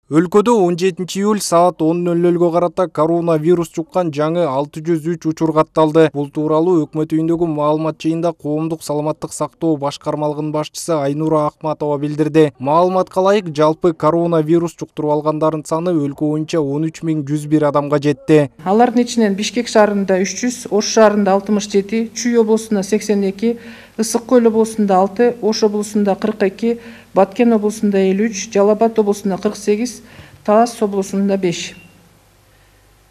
Өлкөдө 17 июль саат 10:00 карата коронавирус жуккан жаңы 603 учур катталды. Бул тууралуу өкмөт үйүндөгү маалымат жыйында Коомдук саламаттык сактоо башкармалыгынын башчысы Айнура Акматова билдирди. Маалыматка ылайык, жалпы коронавирус жуктуруп алгандардын саны өлкө боюнча 13101 адамга жетти. Алардын ичинен Бишкек шаарында 300, Ош шаарында 67, Чүй облусунда 82, Ысык Көл облусунда 6, Ош облусунда 42, Баткен облусунда 53, Жалал Абад облусунда 48, Талас облусунда 5.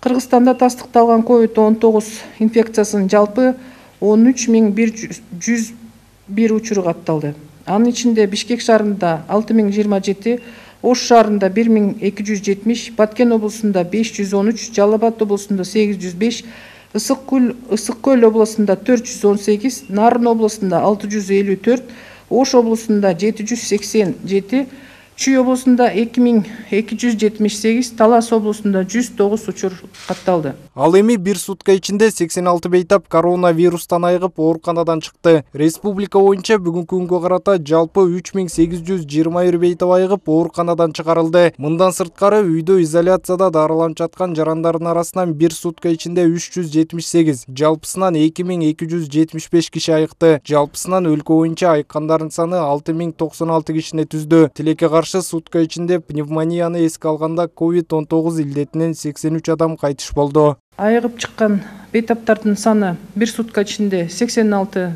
Кыргызстанда тастыкталган COVID-19 инфекциясынын жалпы 13101 учуру катталды. Анын ичинде Бишкек шаарында 6027, Ош шаарында 1270, Баткен облусунда 513, Жалал Абад облусунда 805, Ысык Көл облусунда 418, Нарын облусунда 654, Ош облусунда 787, Чүй облусунда 2278, Талас облусунда 109 учур катталды. Ал эми бир сутка ичинде 86 бейтап коронавирустан айыгып ооруканадан чыкты. Республика боюнча бүгүнкү күнгө карата жалпы 3821 бейтап айыгып ооруканадан чыгарылды. Мындан сырткары үйдө изоляцияда дарыланып жаткан жарандардын арасынан бир сутка ичинде 378, жалпысынан 2275 киши айыкты. Жалпысынан өлкө боюнча айыккандардын саны 6096 кишини түздү. Тилекке каршы сутка ичинде пневмонияны эске алганда COVID-19 илдетинен 83 адам кайтыш болду. Айыгып чыккан бейтаптардын саны бир сутка ичинде 86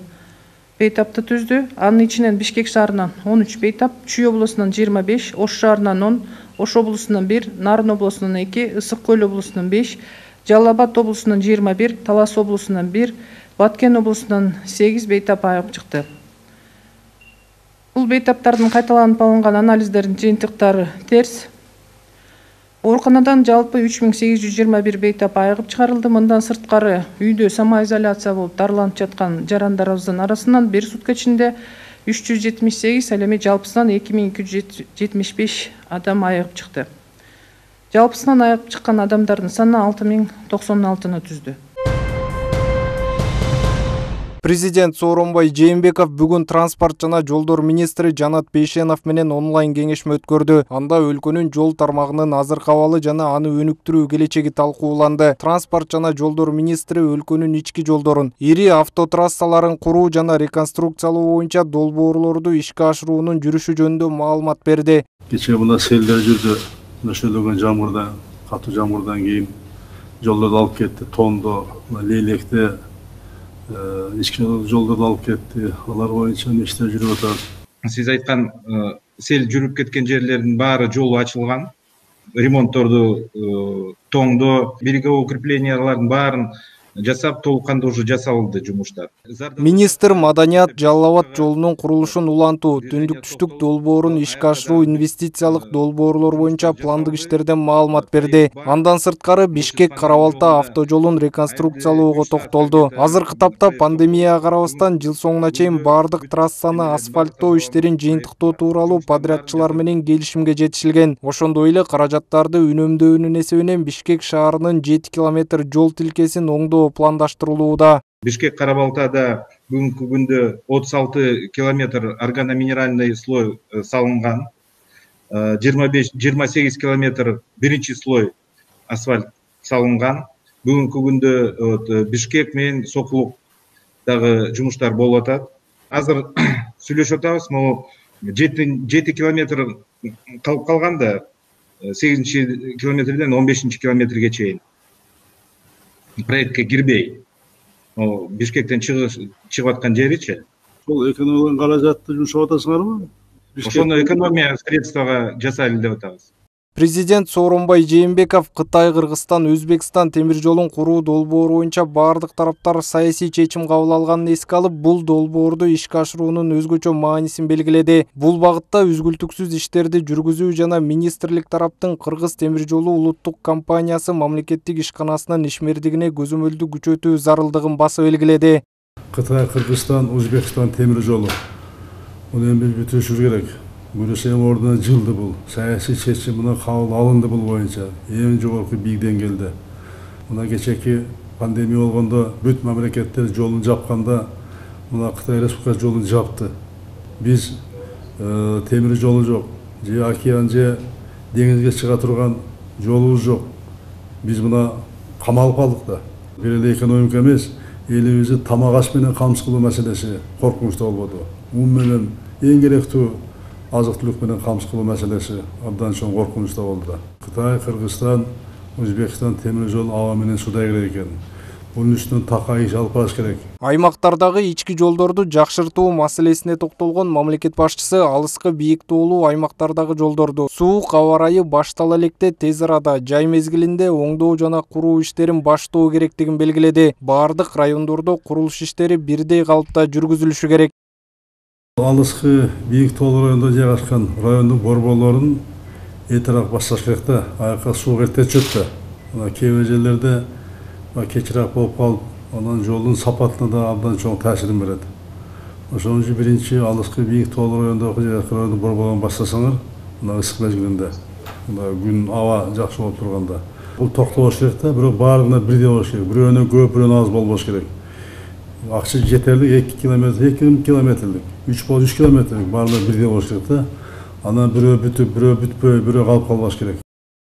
бейтапты түздү. Анын ичинен Бишкек шаарынан 13 бейтап, Чүй облусунан 25, Ош шаарынан 10, Ош облусунан 1, Нарын облусунан 2, Ысык Көл облусунан 5, Жалал Абад облусунан 21, Талас облусунан 1, Баткен облусунан 8 бейтап айыгып чыкты. Бул бейтаптардын кайталанып алынган анализдердин жыйынтыктары терс. Ооруканадан жалпы 3821 бейтап айыгып чыгарылды. Мындан сырткары үйдө самоизоляция болуп дарыланып жаткан жарандарыбыздын арасынан бир сутка ичинде 378, ал эми жалпысынан 2275 адам айыгып чыкты. Жалпысынан айыгып чыккан адамдардын саны 6096-ны түздү. Президент Сооронбай Жээнбеков бүгүн транспорт жана жолдор министри Жанат Бейшенов менен онлайн кеңешме өткөрдү. Анда өлкөнүн жол тармагынын азыркы абалы жана аны өнүктүрүү келечеги талкууланды. Транспорт жана жолдор министри өлкөнүн ички жолдорун, ири автотрассаларын куруу жана реконструкциялоо боюнча долбоорлорду ишке ашыруунун жүрүшү жөнүндө маалымат берди. Кечээ мына селдер жүрдү. Нөшөлөгөн жамгырдан, катуу жамгырдан кийин жолдорду алып кетти. Тондо, Лейлекте ички жолдорду алып кетти. Алар боюнча иштер жүрүп атат. Сиз айткан сел жүрүп кеткен жерлердин баары жолу ачылган. Ремонтторду тоңдо, береговой укреплениялардын баарын жасап, толуккандуу уже жасалды жумуштар. Министр маданият Жалал Абад жолунун курулушун улантуу, түндүк-түштүк долбоорун ишке ашыруу, инвестициялык долбоорлор боюнча пландык иштерден маалымат берди. Андан сырткары Бишкек Карабалта автожолун реконструкциялоого токтолду. Азыркы тапта пандемияга карабастан жыл соңуна чейин бардык трассаны асфальттоо иштерин жыйынтыктоо тууралуу подрядчылар менен келишимге жетишилген. Ошондой эле каражаттарды үнөмдөөнүн эсебинен Бишкек шаарынын 7 километр жол тилкесин оңдоо пландаштырылууда. Бишкек Карабалтада бүгүнкү күндө 36 километр органоминеральный слой салынган, 28 километр биринчи слой асфальт салынган. Бүгүнкү күндө Бишкек менен Сокулуктагы жумуштар болуп атат. Азыр сүйлөшүп атабыз, могу 7 километр калып калганда 8 километрден 15 километрге чейин проектке кирбей, Бишкектен чыгып аткан жеричи. Бул экономиялык каражатты жумшап атасыңарбы? Ошону экономия средствага жасайлы деп атабыз. Президент Сооронбай Жээнбеков Кытай, Кыргызстан, Өзбекстан темир жолун куруу долбоору боюнча бардык тараптар саясий чечим кабыл алганын эске алып, бул долбоорду ишке ашыруунун өзгөчө маанисин белгиледи. Бул багытта үзгүлтүксүз иштерди жүргүзүү жана министрлик тараптын Кыргыз темир жолу улуттук компаниясы мамлекеттик ишканасынын ишмердигине көзөмөлдү күчөтүү зарылдыгын басып белгиледи. Кытай, Кыргызстан, Өзбекстан темир жолу. Муну эми бүтүрүшүбүз керек. Бирөөсү ордуна жылды бул. Саясий чечим мына кабыл алынды бул боюнча. Эң жогорку бийик деңгээлде. Мына кечеки пандемия болгондо бүт мамлекеттер жолун жапканда мына Кытай Республикасы жолун жапты. Биз темир жолу жок, же океан же деңизге чыга турган жолубуз жок. Биз мына камалып калдык да. Бир эле экономика эмес, элибизди тамак аш менен камсыз кылуу маселеси коркунучтуу болбоду. Ун менен эң керектүү азык-түлүк менен камсыз кылуу маселеси абдан чоң коркунучтуу болду да. Кытай, Кыргызстан, Өзбекстан темир жол аба менен суда керек экен. Bunun üstünden taka iş alып барыш керек. Аймактардагы ички жолдорду жакшыртуу маселесине токтолгон мамлекет башчысы алыскы бийик тоолуу аймактардагы жолдорду суук аба ырайы баштала электе тез арада жай мезгилинде оңдоо жана куруу иштерин баштоо керектигин белгиледи. Бардык райондордо курулуш иштери бирдей калыпта жүргүзүлүшү керек. Алыскы бийик тоолуу районунда жайгашкан райондун борборлорун этирак бассаш керек да. Аяка суу эрте түшөт да. Мына кээ бир жерлерде кечирээк болуп калып, анан жолдун сапатына да абдан чоң таасирин берет. Ошон үчүн биринчи алыскы бийик тоолуу райондогу райондун борборлорун баштасаңар, мына ысык мезгилинде, мына күн аба жакшы болуп турганда, бул токтобош керек да, бирок баарына бирдей болуш керек. Бирөөнөн көп, бирөөнөн аз болбош керек. Акча жетерлик 2 километрлик, 3 болуп 3 километрлик баарына бирдей болуш керек да. Анан бирөө бүтүп, бирөө бүтпөй, бирөө калып калбаш керек.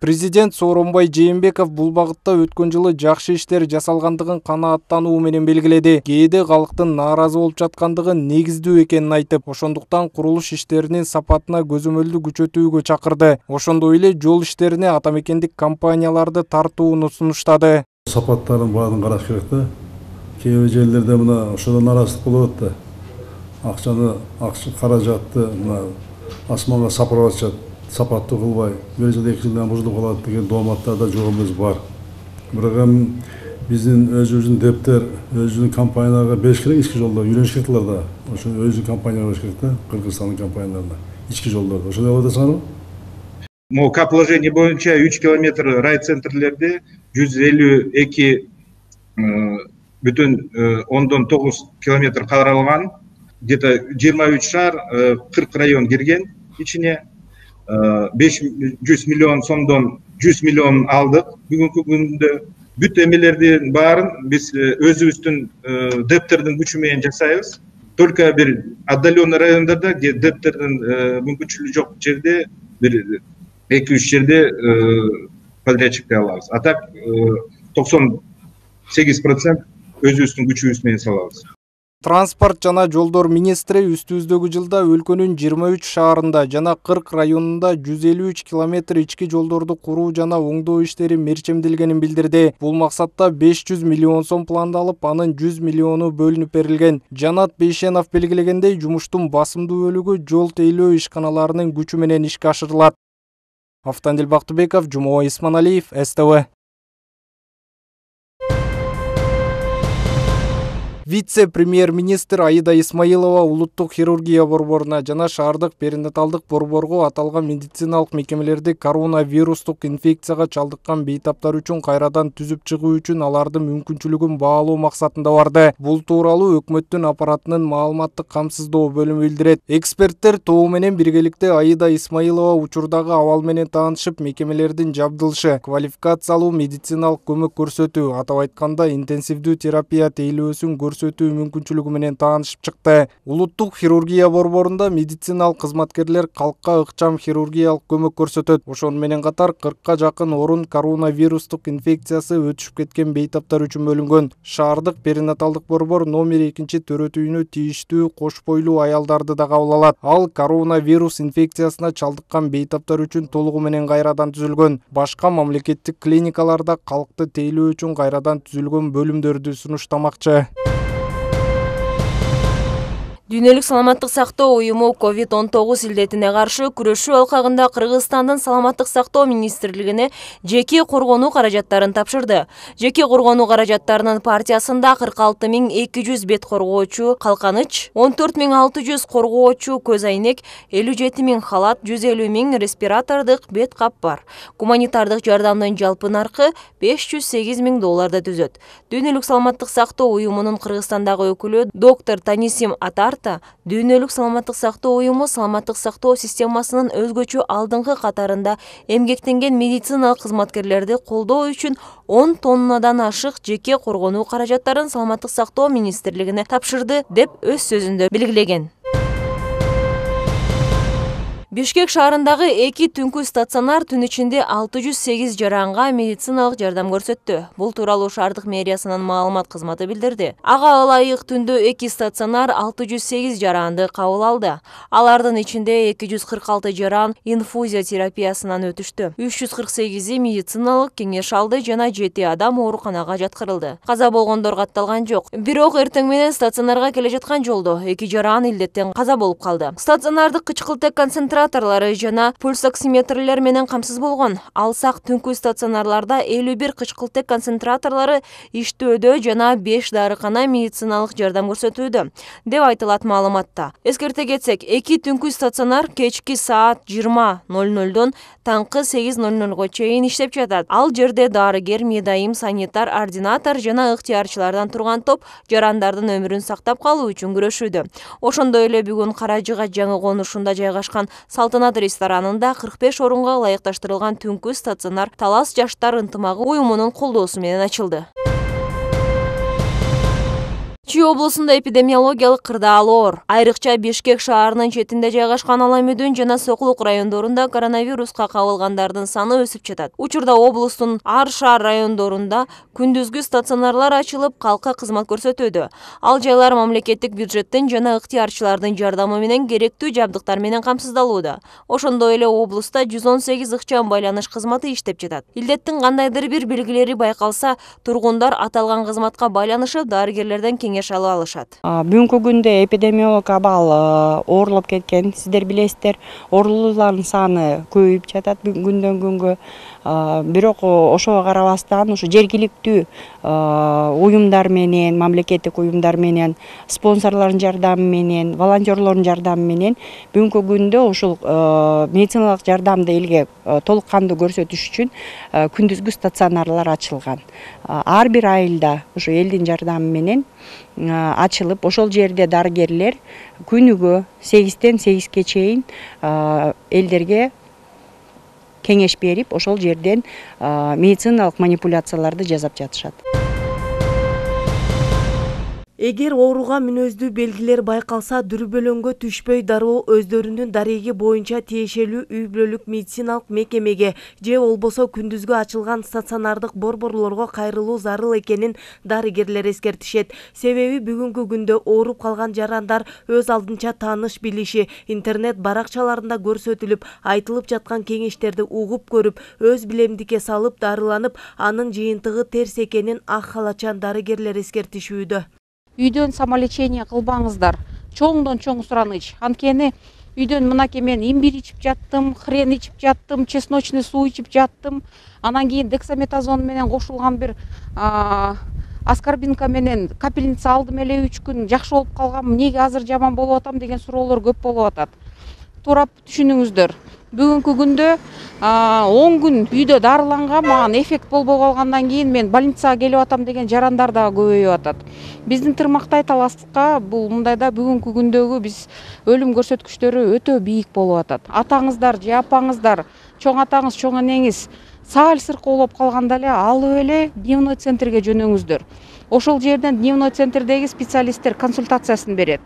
Президент Сооронбай Жээнбеков бул багытта өткөн жылы жакшы иштер жасалгандыгын канааттануу менен белгиледи. Кээде калктын нааразы болуп жаткандыгы негиздүү экенин айтып, ошондуктан курулуш иштеринин сапатына көзөмөлдү күчөтүүгө чакырды. Ошондой эле жол иштерине атамекендик компанияларды тартууну сунуштады. Сапаттарын баарын караш керек да. Кээ бир жерлерде мына ошодон наразылык болуп атты. Акча каражатты мына асманга сапырып атышат. Сапаттуу кылбай, бир жыл 2 жылдан бузулуп калат деген дооматтарда жок эмес бар. Бирок эми биздин өзүбүздүн дептер, өзүбүздүн компанияларга бериш керек ички жолдор, үйрөнүш керек да. Ошо өзүнүн компанияларга бериш керек да, Кыргызстандын компанияларына, ички жолдорду. Ошондой кылып атасыңарбы? МОК положение боюнча 3 километр райцентрлерде 152 бүтүн 10,9 километр каралган. Где-то 23 шаар, 40 район кирген ичине. 500 миллион сомдон 100 миллион алдык. Бүгүнкү күндө бүт эмелердин баарын биз өзүбүздүн дептердин күчү менен жасайбыз. Только бир отдаленный райондордо, где дептердин мүмкүнчүлүгү жок жерде бир 2-3 жерде подрядчикти алабыз. А так 98% өзүбүздүн күчүбүз менен салабыз. Транспорт жана жолдор министри үстүбүздөгү жылда өлкөнүн 23 шаарында жана 40 районунда 153 километр ички жолдорду куруу жана оңдоо иштери мерчемделгенин билдирди. Бул максатта 500 миллион сом пландалып, анын 100 миллиону бөлүнүп берилген. Жанат Бейшенов белгилегендей, жумуштун басымдуу бөлүгү жол тейлөө ишканаларынын күчү менен ишке ашырылат. Автандил Бактыбеков, Жумоо Исманалиев, СТВ. Вице-премьер-министр Аида Исмаилова улуттук хирургия борборуна жана шаардык перинаталдык борборго аталган медициналык мекемелерди коронавирустук инфекцияга чалдыккан бейтаптар үчүн кайрадан түзүп чыгуу үчүн алардын мүмкүнчүлүгүн баалоо максатында барды. Бул тууралуу өкмөттүн аппаратынын маалыматтык камсыздоо бөлүмү билдирет. Эксперттер тобу менен биргеликте Аида Исмаилова учурдагы абал менен таанышып, мекемелердин жабдылышы, квалификациялуу медициналык көмөк көрсөтүү, атап айтканда интенсивдүү терапия тейлөөсүн көрсөтүү мүмкүнчүлүгү менен таанышып чыкты. Улуттук хирургия борборунда медициналык кызматкерлер калкка ыкчам хирургиялык көмөк көрсөтөт. Ошону менен катар 40ка жакын орун коронавирустук инфекциясы өтүшүп кеткен бейтаптар үчүн бөлүнгөн. Шаардык перинаталдык борбор номер 2 төрөтүүнү тийиштүү кош бойлуу аялдарды да кабыл алат. Ал коронавирус инфекциясына чалдыккан бейтаптар үчүн толугу менен кайрадан түзүлгөн. Башка мамлекеттик клиникаларда калкты тейлөө үчүн кайрадан түзүлгөн бөлүмдөрдү сунуштамакчы. Дүйнөлүк саламаттык сактоо уюму COVID-19 илдетине каршы күрөшүү алкагында Кыргызстандын саламаттык сактоо министрлигине жеке коргонуу каражаттарын тапшырды. Жеке коргонуу каражаттарынын партиясында 46.200 бет коргоочу калканыч, 14.600 коргоочу көз айнек, 57.000 халат, 150.000 респиратордук бет кап бар. Гуманитардык жардамдын жалпы наркы $508.000 түзөт. Дүйнөлүк саламаттык сактоо уюмунун Кыргызстандагы өкүлү доктор Танисим Атар дүйнөлүк саламаттык сактоо уюму саламаттык сактоо системасынын өзгөчө алдыңкы катарында эмгектенген медициналык кызматкерлерди колдоо үчүн 10 тоннадан ашык жеке коргонуу каражаттарын саламаттык сактоо министрлигине тапшырды деп өз сөзүндө белгилеген. Бишкек шаарындагы 2 түнкү стационар түн ичинде 608 жаранга медициналык жардам көрсөттү. Бул тууралуу шаардык мэриясынын маалымат кызматы билдирди. Ага ылайык түндө 2 стационар 608 жаранды кабыл алды. Алардын ичинде 246 жаран инфузия терапиясынан өтүштү. 348 медициналык кеңеш алды жана 7 адам ооруканага жаткырылды. Каза болгондор катталган жок. Бирок эртең менен стационарга келе жаткан жолдо 2 жаран илдеттен каза болуп калды. Стационардык кычкылтек концентраторлары жана пульсоксиметрлер менен камсыз болгон. Алсак түнкү стационарларда 51 кычкылтек концентраторлары иштөөдө жана 5 дарыкана медициналык жардам көрсөтүүдө, деп айтылат маалыматта. Эскерте кетсек, 2 түнкү стационар кечки саат 20:00дон таңкы 8:00го чейин иштеп жатат. Ал жерде дарыгер, медайым, санитар, ординатор жана ыктыярчылардан турган топ жарандардын өмүрүн сактап калуу үчүн күрөшүүдө. Ошондой эле бүгүн Каражыга жаңы конушунда жайгашкан Салтанат ресторанында 45 орунга ылайыкташтырылган түнкү стационар Талас жаштар ынтымагы уюмунун колдоосу менен ачылды. Чүй облусунда эпидемиологиялык кырдаал оор. Айрыкча Бишкек шаарынын четинде жайгашкан Аламүдүн жана Сокулук райондорунда коронавируска кабылгандардын саны өсүп жатат. Учурда облустун ар шаар райондорунда күндүзгү стационарлар ачылып, калкка кызмат көрсөтүүдө. Ал жайлар мамлекеттик бюджеттин жана ыктыярчылардын жардамы менен керектүү жабдыктар менен камсыздалууда. Ошондой эле облуста 118 ыкчам байланыш кызматы иштеп жатат. Илдеттин кандайдыр бир белгилери байкалса, тургундар аталган кызматка байланышып, дарыгерлерден кеңеш ала алышат. Бүгүнкү күндө эпидемиологик абал оорлоп кеткен, сиздер билесиздер. Оорулуулардын саны көбөйүп жатат күндөн күнгө. Бирок ошого карабастан ушу жергиликтүү уюмдар менен, мамлекеттик уюмдар менен, спонсорлордун жардамы менен, волонтерлордун жардамы менен бүгүнкү күндө ушул медициналык жардамды элге толук кандуу көрсөтүш үчүн күндүзгү стационарлар ачылган. Ар бир айылда ушу элдин жардамы менен ачылып, ошол жерде дарыгерлер күнүгө 8-тен 8-ге чейин элдерге кеңеш берип, ошол жерден медициналык манипуляцияларды жасап жатышат. Эгер ооруга мүнөздүү белгилер байкалса, дүрбөлөңгө түшпөй дароо өздөрүнүн дареги боюнча тиешелүү үй бүлөлүк медициналык мекемеге же болбосо күндүзгү ачылган стационардык борборлорго кайрылуу зарыл экенин дарыгерлер эскертишет. Себеби бүгүнкү күндө ооруп калган жарандар өз алдынча тааныш билиши, интернет баракчаларында көрсөтүлүп, айтылып жаткан кеңештерди угуп көрүп, өз билемдикке салып дарыланып, анын жыйынтыгы терс экенин ак халачан дарыгерлер эскертишүүдө. Үйдөн самолечение кылбаңыздар. Чоңдон чоң сураныч. Анткени үйдөн мынакей мен имбирь ичип жаттым, хрен ичип жаттым, чесночный суу ичип жаттым. Анан кийин дексаметазон менен кошулган бир аскорбинка менен капельница алдым эле 3 күн жакшы болуп калгам. Эмнеге азыр жаман болуп атам деген суроолор көп болуп атат. Туурап түшүнүңүздөр. Бүгүнкү күндө 10 күн үйдө дарыланган, мага эффект болбой калгандан кийин мен больницага келип атам деген жарандар да көбөйүп атат. Биздин Тырмактай Таласка бул мындайда бүгүнкү күндөгү биз өлүм көрсөткүчтөрү өтө бийик болуп атат. Атаңыздар же апаңыздар, чоң атаңыз, чоң энеңиз саал сыркоолоп калганда эле алып эле дневной центрге жөнөңүздөр. Ошол жерден дневной центрдеги специалисттер консультациясын берет,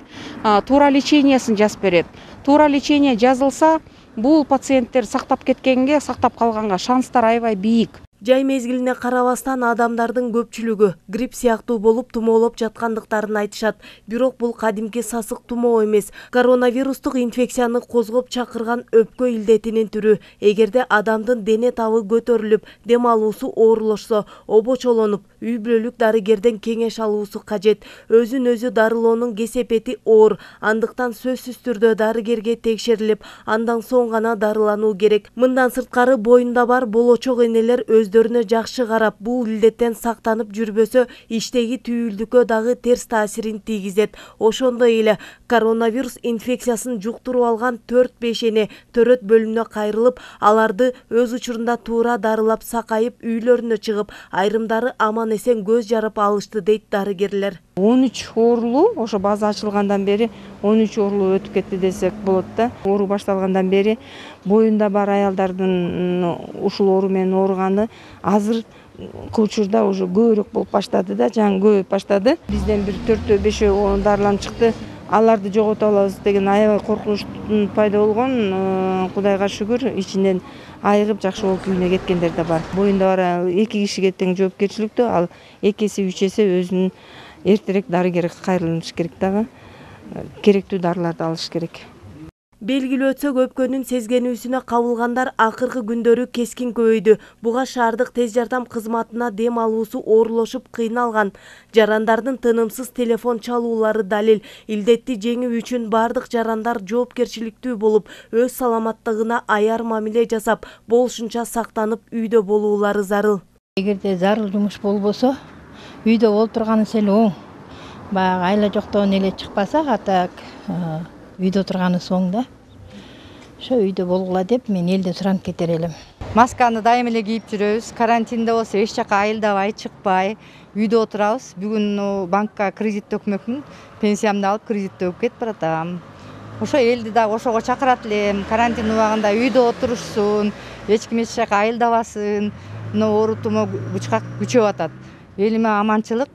туура лечениясын жазып берет. Туура лечение жазылса, бул пациенттер сактап кеткенге, сактап калганга шанстар аябай бийик. Жай мезгилине карабастан адамдардын көпчүлүгү грипп сыяктуу болуп тумоолоп жаткандыктарын айтышат. Бирок бул кадимки сасык тумоо эмес, коронавирустук инфекцияны козгоп чакырган өпкө илдетинин түрү. Эгерде адамдын дене табы көтөрүлүп, дем алуусу оорулошсо, обочолонуп, үй бүлөлүк дарыгерден кеңеш алуусу кажет. Өзүн өзү дарылоонун кесепети оор, андыктан сөзсүз түрдө дарыгерге текшерилип, андан соң гана дарылануу керек. Мындан сырткары боюнда бар болочок энелер өздөрүнө жакшы карап, бул илдеттен сактанып жүрбөсө, иштеги түйүлдүккө дагы терс таасирин тийгизет. Ошондой эле коронавирус инфекциясын жуктуруп алган 4-5 эне төрөт бөлүмүнө кайрылып, аларды өз учурунда туура дарылап сакайып үйлөрүнө чыгып, айрымдары аман эсен көз жарып алышты дейт дарыгерлер. 13 оорулуу ошо база ачылгандан бери 13 оорулуу өтүп кетти десек болот да. Оору башталгандан бери боюнда бар аялдардын ушул оору менен ооруганы азыр учурда уже көбүрөөк болуп баштады да, жаңы көбөйүп баштады. Бизден бир 4-5 дарыланып чыкты. аларды жогото алабыз деген аябай коркунучтун пайда болгон. Кудайга шүгүр, ичинен айыгып жакшы болуп үйүнө кеткендер да бар. Боюнда бара 2 кишиге тең жоопкерчиликтүү, ал 2-си 3-эсе өзүнүн эртерээк дарыгерге кайрылыш керек дагы. Керектүү дарыларды алыш керек. Белгилүү өтсө көпкөнүн сезгенүүсүнө кабылгандар акыркы күндөрү кескин көбөйдү. Буга шаардык тез жардам кызматына дем алуусу оорулошуп кыйналган. Жарандардын тынымсыз телефон чалуулары далил. Илдетти жеңүү үчүн бардык жарандар жоопкерчиликтүү болуп, өз саламаттыгына аяр мамиле жасап, болушунча сактанып үйдө болуулары зарыл. Эгерде зарыл жумуш болбосо, үйдө олтурганы сел оң. Баягы айла жоктон эле чыкпаса, атак үйдө отурганы соң да. Ошо үйдө болгула деп мен элден суранып кетер элем. Масканы дайым эле кийип жүрөбүз. Карантинде болсо эч жака айылдабай, чыкпай, үйдө отурабыз. Бүгүн банкка кредит төкмөкмүн. Пенсиямды алып кредит төкүп кетип баратам. Ошо элди дагы ошого чакырат элем. Карантин убагында үйдө отурушсун, эч ким эч жака айылдабасын. Оору тумоо күчөп атат. Элиме аманчылык,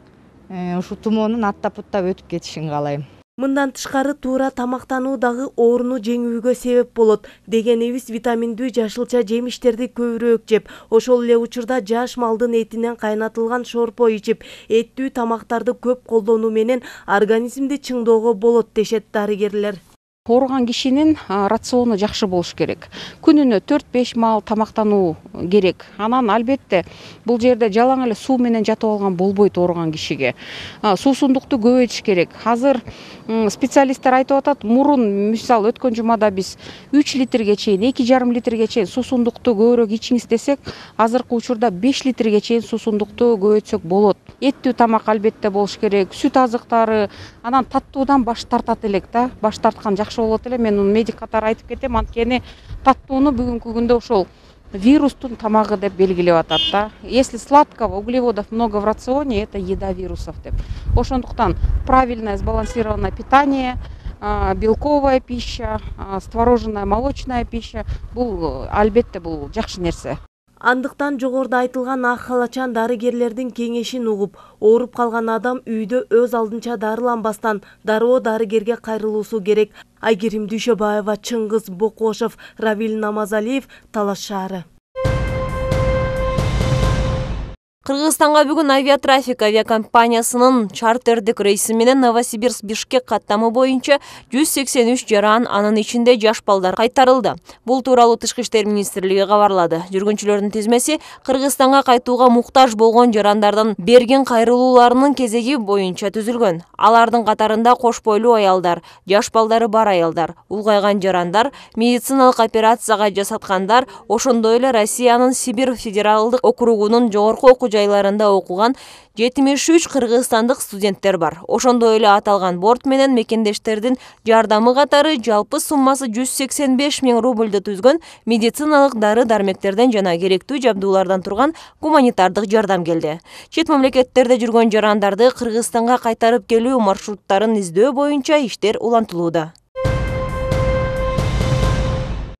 ушу тумоонун аттап-уттап өтүп кетишин каалайм. Мындан тышкары туура тамактануу дагы ооруну жеңүүгө себеп болот. Дегенибиз витаминдүү жашылча жемиштерди көбүрөөк жеп, ошол эле учурда жаш малдын этинен кайнатылган шорпо ичип, эттүү тамактарды көп колдонуу менен организмди чыңдоого болот дешет дарыгерлер. Ооруган кишинин рациону жакшы болуш керек. Күнүнө 4-5 маал тамактануу керек. Анан албетте бул жерде жалаң эле суу менен жатып алган болбойт ооруган кишиге. Суусундукту көбөйтүш керек. Азыр специалисттер айтып атат, мурун мисалы өткөн жумада биз 3 литрге чейин, 2,5 литрге чейин суусундукту көбүрөөк ичиңиз десек, азыркы учурда 5 литрге чейин суусундукту көбөйтсөк болот. Эттүү тамак албетте болуш керек, сүт азыктары, анан таттуудан баш тартат элек да. Баш тарткан жакшы болот эле. Мен медик катары айтып кетем, анткени таттууну бүгүнкү күндө ошол вирустун тамагы деп белгилеп атат да. Если сладкого, углеводов много в рационе, это еда вирусов деп. Ошондуктан правильное сбалансированное питание, белковая пища, творожная молочная пища бул албетте бул жакшы нерсе. Андыктан жогоруда айтылган ак халачан дарыгерлердин кеңешин угуп, ооруп калган адам үйдө өз алдынча дарыланбастан дароо дарыгерге кайрылуусу керек. Айгерим Дүйшөбаева, Чыңгыз Бокошов, Равил Намазалиев, Талаш шаары. Кыргызстанга бүгүн авиатрафик авиакомпаниясынын чартердик рейси менен Новосибирск-Бишкек каттамы боюнча 183 жаран, анын ичинде жаш балдар кайтарылды. Бул тууралуу Тышкы иштер министрлиги кабарлады. Жүргүнчүлөрдүн тизмеси Кыргызстанга кайтууга муктаж болгон жарандардын берген кайрылууларынын кезеги боюнча түзүлгөн. Алардын катарында кош бойлуу аялдар, жаш балдары бар аялдар, улгайган жарандар, медициналык операцияга жасаткандар, ошондой эле Россиянын Сибирь федералдык округунун жогорку окуу жайларында окуган 73 кыргызстандык студенттер бар. Ошондой эле аталган борт менен мекендештердин жардамы катары жалпы суммасы 185 000 рубльду түзгөн медициналык дары-дармектерден жана керектүү жабдуулардан турган гуманитардык жардам келди. Чет мамлекеттерде жүргөн жарандарды Кыргызстанга кайтарып келүү маршруттарын издөө боюнча иштер улантылууда.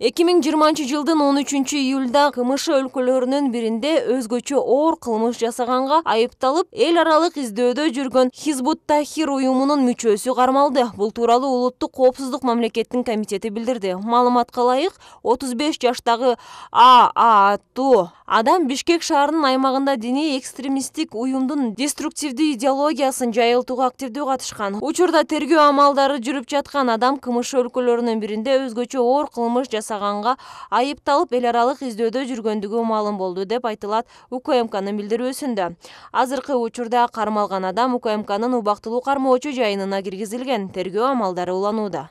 2020 жылдын 13 июлда КМШ өлкөлөрүнүн биринде өзгөчө оор кылмыш жасаганга айыпталып, эл аралык издөөдө жүргөн Хизбут Тахрир уюмунун мүчөсү кармалды. Бул тууралуу Улуттук коопсуздук мамлекеттин комитети билдирди. Маалыматка ылайык, 35 жаштагы ААТУ адам Бишкек шаарынын аймагында диний экстремисттик уюмдун деструктивдүү идеологиясын жайылтууга активдүү катышкан. Учурда тергөө амалдары жүрүп жаткан адам КМШ өлкөлөрүнүн биринде өзгөчө оор кылмыш жасаганга айыпталып, эл аралык издөөдө жүргөндүгү маалым болду деп айтылат УКМКнын билдирүүсүндө. Азыркы учурда кармалган адам УКМКнын убактылуу кармоочу жайынына киргизилген. Тергөө амалдары уланууда.